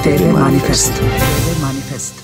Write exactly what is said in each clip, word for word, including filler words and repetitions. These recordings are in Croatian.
te ve Manifest. Manifest.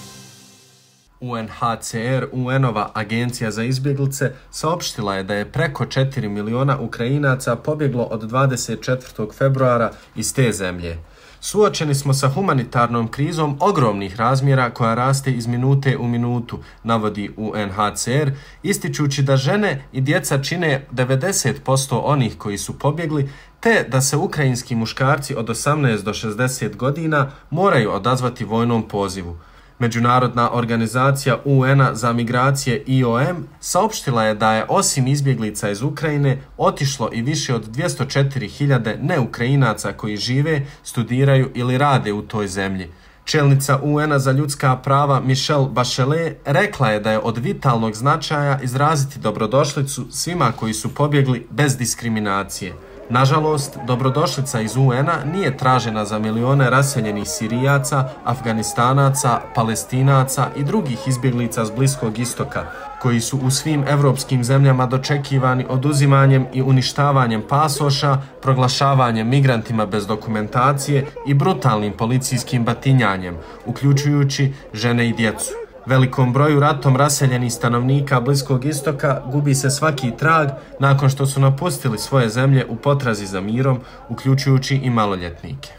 U N H C R, U N-ova agencija za izbjeglice, saopštila je da je preko četiri miliona Ukrajinaca pobjeglo od dvadeset četvrtog februara iz te zemlje. Suočeni smo sa humanitarnom krizom ogromnih razmjera koja raste iz minute u minutu, navodi U N H C R, ističući da žene i djeca čine devedeset posto onih koji su pobjegli, te da se ukrajinski muškarci od osamnaest do šezdeset godina moraju odazvati vojnom pozivu. Međunarodna organizacija U N-a za migracije I O M saopštila je da je osim izbjeglica iz Ukrajine otišlo i više od dvjesto četiri hiljade neukrajinaca koji žive, studiraju ili rade u toj zemlji. Čelnica U N-a za ljudska prava Michelle Bachelet rekla je da je od vitalnog značaja izraziti dobrodošlicu svima koji su pobjegli bez diskriminacije. Nažalost, dobrodošlica iz U N-a nije tražena za milione raseljenih Sirijaca, Afganistanaca, Palestinaca i drugih izbjeglica s Bliskog istoka, koji su u svim evropskim zemljama dočekivani oduzimanjem i uništavanjem pasoša, proglašavanjem migrantima bez dokumentacije i brutalnim policijskim batinjanjem, uključujući žene i djecu. Velikom broju ratom raseljenih stanovnika Bliskog istoka gubi se svaki trag nakon što su napustili svoje zemlje u potrazi za mirom, uključujući i maloljetnike.